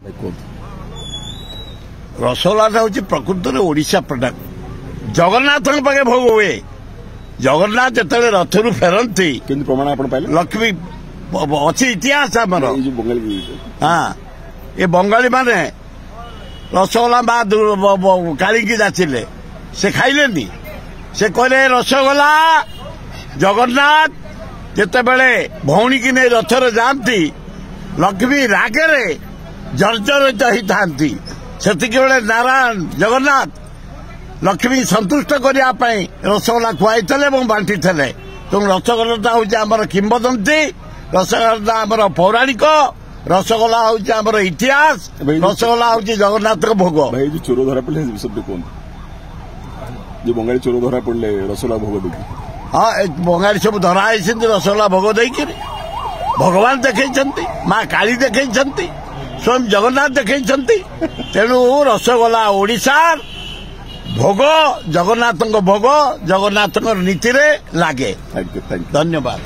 କୁହନ୍ତୁ। ରସଗୋଲାଟା ହେଉଛି ପ୍ରକୃତରେ ଓଡ଼ିଶା ପ୍ରଡକ୍ଟ। ଜଗନ୍ନାଥଙ୍କ ପାଖେ ଭୋଗ ହୁଏ। ଜଗନ୍ନାଥ ଯେତେବେଳେ ରଥରୁ ଫେରନ୍ତି, କେମିତି ପ୍ରମାଣ ଆପଣ ପାଇଲେ? ଲକ୍ଷ୍ମୀ ଅଛି, ଇତିହାସ ଆମର। ଏଇ ଯୋଉ ବଙ୍ଗାଳୀ, ହଁ, ଏ ବଙ୍ଗାଳୀ ମାନେ ରସଗୋଲା ମା କାଳିକି ଯାଚିଲେ, ସେ ଖାଇଲେନି। ସେ କହିଲେ ରସଗୋଲା। ଜଗନ୍ନାଥ ଯେତେବେଳେ ଭଉଣୀକି ନେଇ ରଥରେ ଯାଆନ୍ତି, ଲକ୍ଷ୍ମୀ ରାଗରେ ଜର୍ଜରିତ ହେଇଥାନ୍ତି। ସେତିକି ବେଳେ ନାରାୟଣ ଜଗନ୍ନାଥ ଲକ୍ଷ୍ମୀ ସନ୍ତୁଷ୍ଟ କରିବା ପାଇଁ ରସଗୋଲା ଖୁଆଇଥିଲେ ଏବଂ ବାଣ୍ଟିଥିଲେ। ତେଣୁ ରସଗୋଲାଟା ହେଉଛି ଆମର କିମ୍ବଦନ୍ତୀ, ରସଗୋଲାଟା ଆମର ପୌରାଣିକ, ରସଗୋଲା ହେଉଛି ଆମର ଇତିହାସ, ରସଗୋଲା ହେଉଛି ଜଗନ୍ନାଥଙ୍କ ଭୋଗ। ଭାଇ, ଯୋଉ ଚୋର ଧରା ପଡିଲେ ସେ ବିଷୟରେ କୁହନ୍ତୁ। ଯୋଉ ବଙ୍ଗାଳୀ ଚୋର ଧରା ପଡିଲେ ରସଗୋଲା ଭୋଗ ଦେଇକି। ହଁ, ଏ ବଙ୍ଗାଳୀ ସବୁ ଧରା ହେଇଛନ୍ତି ରସଗୋଲା ଭୋଗ ଦେଇକିରି। ଭଗବାନ ଦେଖେଇଛନ୍ତି, ମା କାଳୀ ଦେଖେଇଛନ୍ତି, ସ୍ୱୟଂ ଜଗନ୍ନାଥ ଦେଖେଇଛନ୍ତି। ତେଣୁ ରସଗୋଲା ଓଡ଼ିଶାର ଭୋଗ, ଜଗନ୍ନାଥଙ୍କ ଭୋଗ, ଜଗନ୍ନାଥଙ୍କ ନୀତିରେ ଲାଗେ। Thank you, thank you. ଧନ୍ୟବାଦ।